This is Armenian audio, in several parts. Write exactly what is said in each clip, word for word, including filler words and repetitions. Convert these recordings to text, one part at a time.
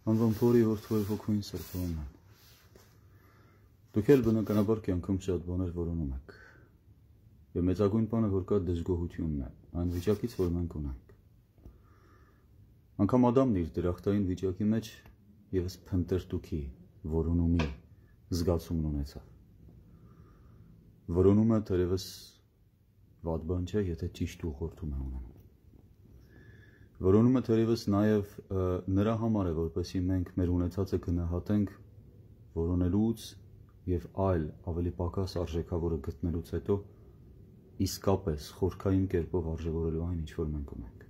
Անվան փորի որդվոյ հոգույն սրբոն են։ Դուք էլ բնականաբար կյանքում շատ բաներ որոնում եք։ Եվ մեծագույն բանը, որ կա դժգոհությունն է, այն վիճակից, որ մենք ունենք։ Անգամ Ադամն իր դրախտային վիճակի մեջ ևս փնտրտուքի, որոնումի զգացումն ունեցավ։ Որոնումը թերևս վատ բան չէ, եթե ճիշտ ուղղորդում է ունենում։ Որոնումը թերևս նաև նրա համար է, որպեսզի մենք մեր ունեցածը գնահատենք որոնելուց և այլ ավելի պակաս արժեքավորը գտնելուց հետո իսկապես խորքային կերպով արժևորելու այն, ինչ որ մենք ունենք։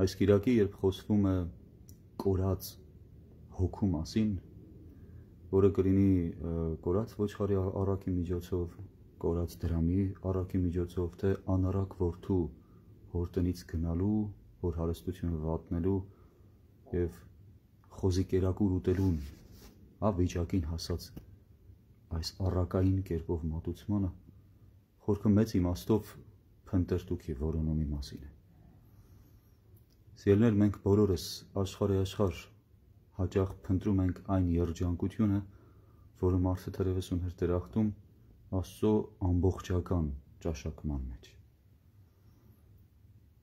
Այս կիրակի, երբ խոսվում է կորած հոգու մասին, որը կլինի կորած ոչխարի առակի միջոցով, կորած դրամի առակի միջոցով, թե անառակ որդու հոր տնից գնալու, հոր հարստությունը վատնելու և խոզի կերակուր ուտելուն վիճակին հասած այս առակային կերպով մատուցմանը խորքը մեծ իմաստով փնտրտուքի որոնումի մասին է։ Սիրելիներ, մենք բոլորս աշխարհի աշխարհ հաճախ փնտրում ենք այն երջանկությունը, որը մարդը թերևս ուներ դրախտում Աստծո ամբողջական ճաշակման մեջ։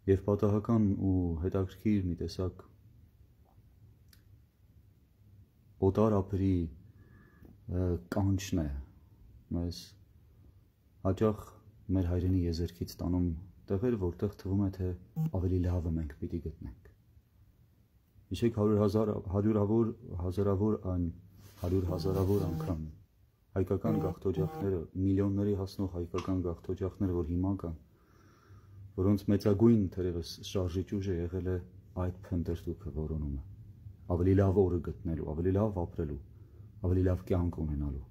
Եվ պատահական ու հետաքրքիր մի տեսակ օտար ափերի կանչն է մեզ հաճախ մեր հայրենի եզերքից տանում տեղեր, որտեղ թվում է, թե ավելի լավը մենք պիտի գտնենք։ Հիշեք հարյուրավոր, հազարավոր այն հարյուր հազարավոր անգամ հայկական գաղթօջախները, միլիոնների հասնող հայկական գաղթօջախները, որ հիմա կան, որոնց մեծագույն թերևս շարժիչ ուժը եղել է այդ փնտրտուքը որոնումը, ավելի լավ օրը գտնելու, ավելի լավ ապրելու, ավելի լավ կյանք ունենալու։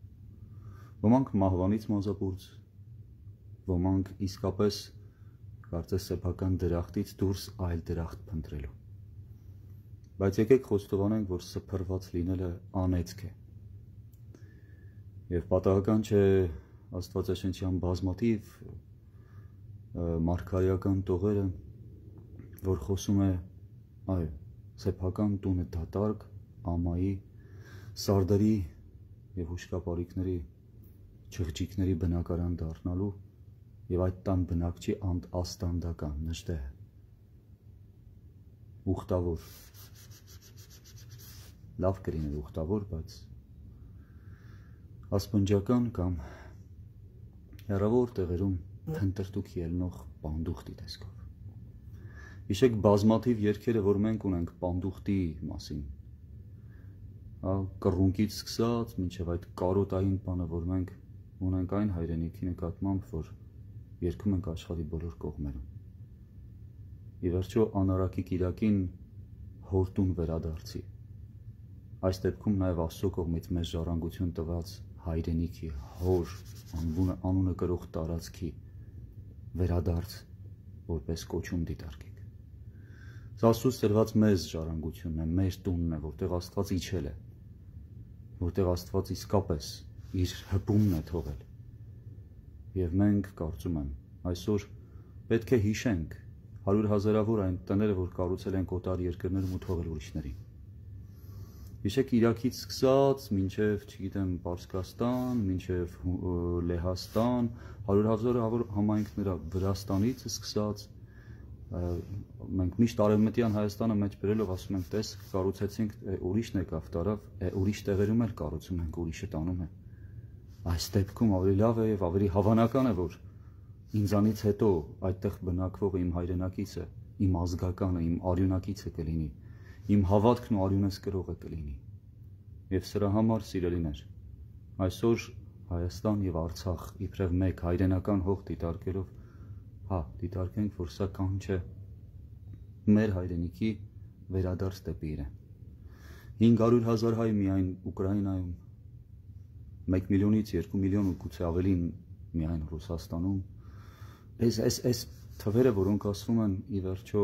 Ոմանք մահվանից մազապուրծ, ոմանք իսկապես կարծես սեփական դրախտից դուրս այլ դրախտ փնտրելու։ Բայց եկեք խոստովանենք, որ սփռված լինելը անեծք է։ Եվ պատահական չէ Աստվածաշնչյան բազմաթիվ մարգարեական տողերը, որ խոսում է այո, սեփական տունը դատարկ, ամայի, սարդերի և հուշկապարիկների, չղջիկների բնակարան դառնալու և այդ տան բնակչի աստանդական, նժդեհ, ուխտավոր, լավ կլիներ ուխտավոր, բայց ասպնջական կամ հեռավոր տեղերում փնտրտուքի ելնող պանդուխտի տեսքով։ Հիշեք բազմաթիվ երգերը, որ մենք ունենք պանդուխտի մասին, կռունկից սկսած մինչև այդ կարոտային բանը, որ մենք ունենք այն հայրենիքի նկատմամբ, որ երգում ենք աշխարհի բոլոր կողմերում։ Ի վերջո անառակի կիրակին հորտուն վերադարձի։ Այս դեպքում նաև Աստծո կողմից մեզ ժառանգություն տված հայրենիքի, հոր անունը կրող տարածքի վերադարձ որպես կոչում դիտարկեք։ Սա Աստծուց տրված մեզ ժառանգությունն է, մեր տունն է, որտեղ Աստված իջել է, որտեղ Աստված իսկապես իր հպումն է թողել։ Եվ մենք, կարծում եմ, այսօր պետք է հիշենք հարյուր հազարավոր այն տները, որ կառուցել ենք օտար երկրներում ու թողել ուրիշներին։ Հիշեք Իրաքից սկսած, մինչև, չգիտեմ, Պարսկաստան, մինչև Լեհաստան, հարյուր հազարավոր համայնքներ Վրաստանից սկսած, մենք միշտ Արևմտյան Հայաստանը մեջ բերելով ասում ենք, տես, կառուցեցինք, ուրիշն եկավ տարավ, ուրիշ տեղերում էլ կառուցում ենք, ուրիշը տանում է։ Այս դեպքում ավելի լավ է և ավելի հավանական է, որ ինձանից հետո այդտեղ բնակվողը իմ հայրենակիցը, իմ ազգականը, իմ արյունակիցը կլինի, իմ հավատքն ու արյունս կրողը կլինի։ Եվ սրա համար, սիրելիներ, այսօր Հայաստան և Արցախ իբրև մեկ հայրենական հող դիտարկելով, հա, դիտարկենք, որ սա կանչ է մեր հայրենիքի վերադարձ դեպի իրեն։ հինգ հարյուր հազար հայ միայն Ուկրաինայում, մեկ միլիոնից երկու միլիոն ու գուցե ավելին միայն Ռուսաստանում, այս այս այս թվերը, որոնք ասվում են, ի վերջո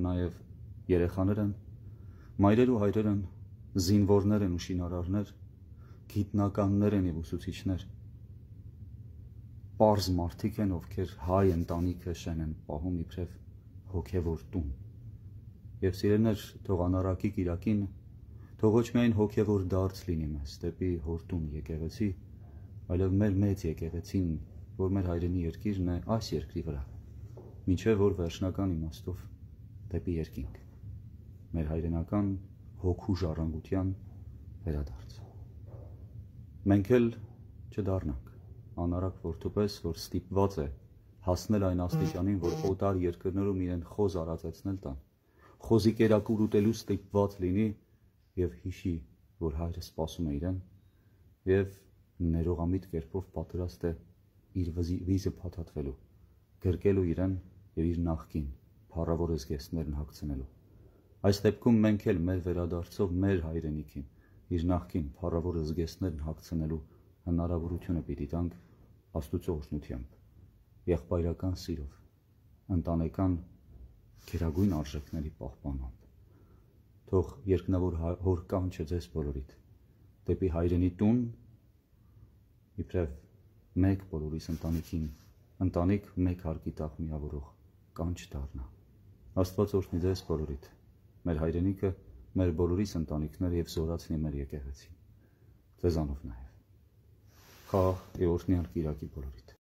նաև երեխաներ են, մայրեր ու հայրեր են, զինվորներ են ու շինարարներ, գիտնականներ են և ուսուցիչներ, պարզ մարդիկ են, ովքեր հայ ընտանիքը շեն են պահում իբրև հոգևոր տուն։ Եվ սիրելիներ, թող անառակի կիրակին Թող ոչ միայն հոգևոր դարձ լինի մեզ դեպի հորտուն եկեղեցի, այլև մեր մեծ եկեղեցին, որ մեր հայրենի երկիրն է այս երկրի վրա, մինչև որ վերջնական իմաստով դեպի երկինք, մեր հայրենական հոգու ժառանգության վերադարձ։ Մենք էլ չդառնանք անարակ որդուպես, որ ստիպված է հասնել այն աստիճանին, որ օտար երկրներում իրեն խոզ արածեցնել տան, խոզի կերակուր ուտելու ստիպված լինի և հիշի, որ հայրը սպասում է իրեն և ներողամիտ կերպով պատրաստ է իր վիզը փաթաթվելու, գրկելու իրեն և իր նախկին փառավոր զգեստներն հագցնելու։ Այս դեպքում մենք էլ մեր վերադարձով մեր հայրենիքին իր նախկին փառավոր զգեստներն հագցնելու հնարավորությունը պիտի տանք Աստուծո օրհնությամբ, եղբայրական սիրով, ընտանեկան գերագույն արժեքների պահպանությամբ։ Թող երկնավոր հոր կանչը ձեզ բոլորիդ դեպի հայրենի տուն, իբրև մեկ բոլորիս ընտանիքին, ընտանիք մեկ հարկի տակ միավորող կանչ դառնա։ Աստված օրհնի ձեզ բոլորիդ, մեր հայրենիքը, մեր բոլորիս ընտանիքները և զորացնի մեր եկեղեցին, ձեզանով նաև։ Խաղաղ և օրհնյալ կիրակի բոլորիդ։